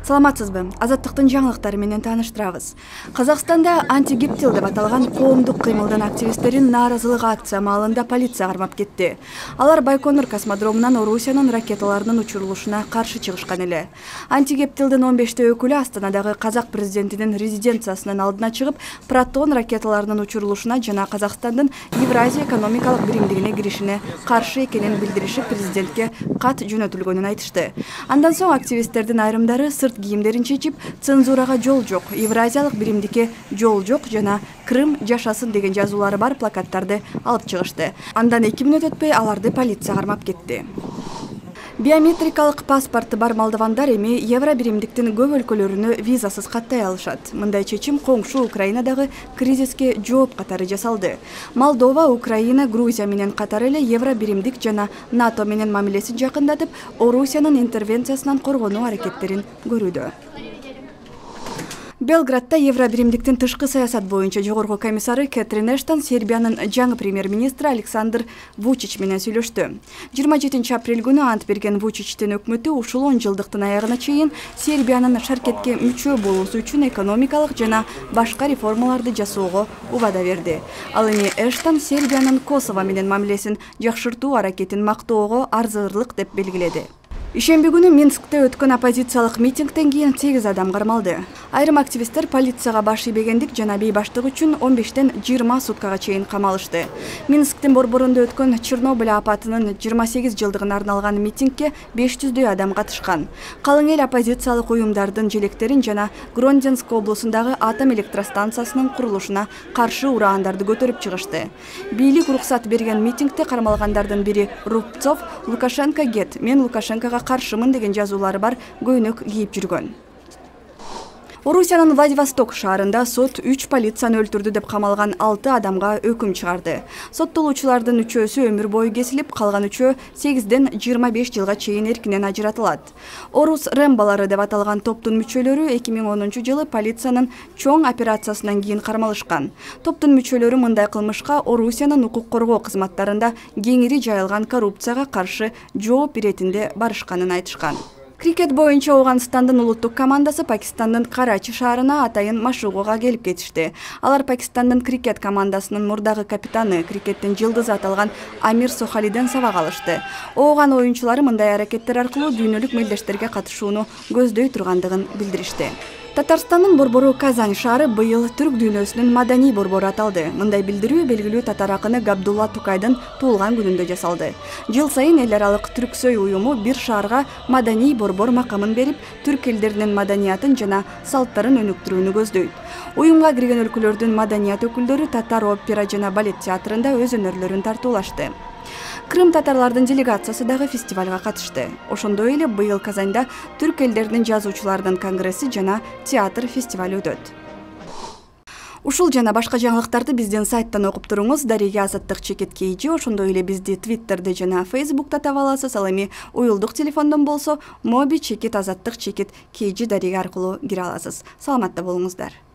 Саламатсызбы? Азаттыктын жаңылыктары менен тааныштырабыз. Казакстанда антигептил деп аталган коомдук кыймылдын активисттерин нааразылык акция маалында полиция кармап кетти. Алар Байконур космодромунан Орусиянын ракеталарынын учурулушуна каршы чыгышкан эле. Антигептилдин 15 өкүлү Астанадагы казак президентинин резиденциясынын алдына чыгып, Протон ракеталарынын учурулушуна жана Казакстандын Евразия экономикалык биримдигине киришине каршы экенин билдиришип, президентке кат жөнөтүлгөнүн айтышты. Андан соң активисттердин айрымдары сырт кийимдерин чечип, цензурага жол жок, Евразиялык биримдикке жол жок жана Крым жашасын деген жазуулары бар плакаттарды алып чыгышты. Андан 2 мүнөт өтпөй аларды полиция кармап кетти. Биометрикалык паспорты бар молдовандар эми евро биримдиктин көп өлкөлөрүнө визасыз каттай алышат. Мындай чечим коңшу Украинадагы кризиске жооп катары жасалды. Молдова, Украина, Грузия менен катары эле евро биримдик жана НАТО менен мамилесин жакындатып, Орусиянын интервенциясынан коргонуу аракеттерин көрүүдө. Белградда евро биримдиктин тышкы саясат боюнча жогорку комиссары Кэтрин Эштон Сербиянын жаңы премьер-министри Александр Вучич менен сүйлөштү. 27 апрель күнү ант берген Вучичтин өкмөтү ушул 10 жылдыктын аягына чейин Сербиянын шаркетке мүчө болуусу үчүн экономикалык жана башка реформаларды жасоого убада берди. Ал эми Эштон Сербиянын Косово менен мамилесин жакшыртуу аракетин мактоого арзырлык деп белгиледи. Ишемби күнү Минскте өткөн оппозициялык митингден кийин 8 адам кармалды. Айрым активисттер полицияга баш ийбегендик жана бейбаштык үчүн 15-тен 20 суткага чейин камалышты. Минсктин борборунда өткөн Чернобыль апатынын 28 жылдыгына арналган митингге 500дөй адам катышкан. Калың эл оппозициялык уюмдардын желектерин жана Гронденск облусундагы атом электростанциясынын курулушуна каршы ураандарды көтөрүп чыгышты. Бийлик уруксат берген митингде кармалгандардын бири Рубцов Лукашенко гет, мен Лукашенкога каршымын деген жазуулары бар көйнөк кийип жүргөн. Орусиянын Владивосток шаарында сот 3 полицияны өлтүрдү деп камалган 6 адамга өкүм чыгарды. Соттолуучулардын 3-өсү өмүр бою кесилип, калган 3-өө 8-ден 25 жылга чейин эркинен ажыратылат. Орус Рэмболору деп аталган топтун мүчөлөрү 2010 жылы полициянын чоң операциясынан кийин кармалышкан. Топтун мүчөлөрү мындай кылмышка Орусиянын укук коргоо кызматтарында кеңири жайылган коррупцияга каршы жооп иретинде барышканын айтышкан. Крикет боюнча Ооганстандын улуттук командасы Пакистандын Карачи шаарына атайын машыгууга келип кетишти. Алар Пакистандын крикет командасынын мурдагы капитаны, крикеттин жылдызы аталган Амир Сохалиден сабак алышты. Ооган оюнчулары мындай аракеттер аркылуу дүйнөлүк мелдештерге катышууну көздөй тургандыгын билдиришти. Татарстандын борбору Казань шаары быйыл түрк дүйнөсүнүн маданий борбору аталды. Мындай билдирүү белгилүү татар акыны Габдулла Тукайдын туулган күнүндө жасалды. Жыл сайын эл аралык түрксөй уюму бир шаарга маданий борбор макамын берип, түрк элдеринин маданиятын жана салттарын өнүктүрүүнү көздөйт. Уюмга кирген өлкөлөрдүн маданият өкүлдөрү татар опера жана балет театрында өз өнөрлөрүн тартуулашты. Крым татарлардын делегациясы дагы фестивалга катышты. Ошондой эле быйыл Казанда түрк элдеринин жазуучулардын конгресси жана театр фестивали өтөт. Ушул жана башка жаңылыктарды биздин сайттан окуп туруңуз. Дарига Азаттык чекит KG, ошондой эле бизди Twitterде жана Facebook'та таба аласыз. Ал эми уюлдук телефондон болсо Моби чекит Азаттык чекит KG Дарига аркылуу кире аласыз. Саламатта болуңуздар.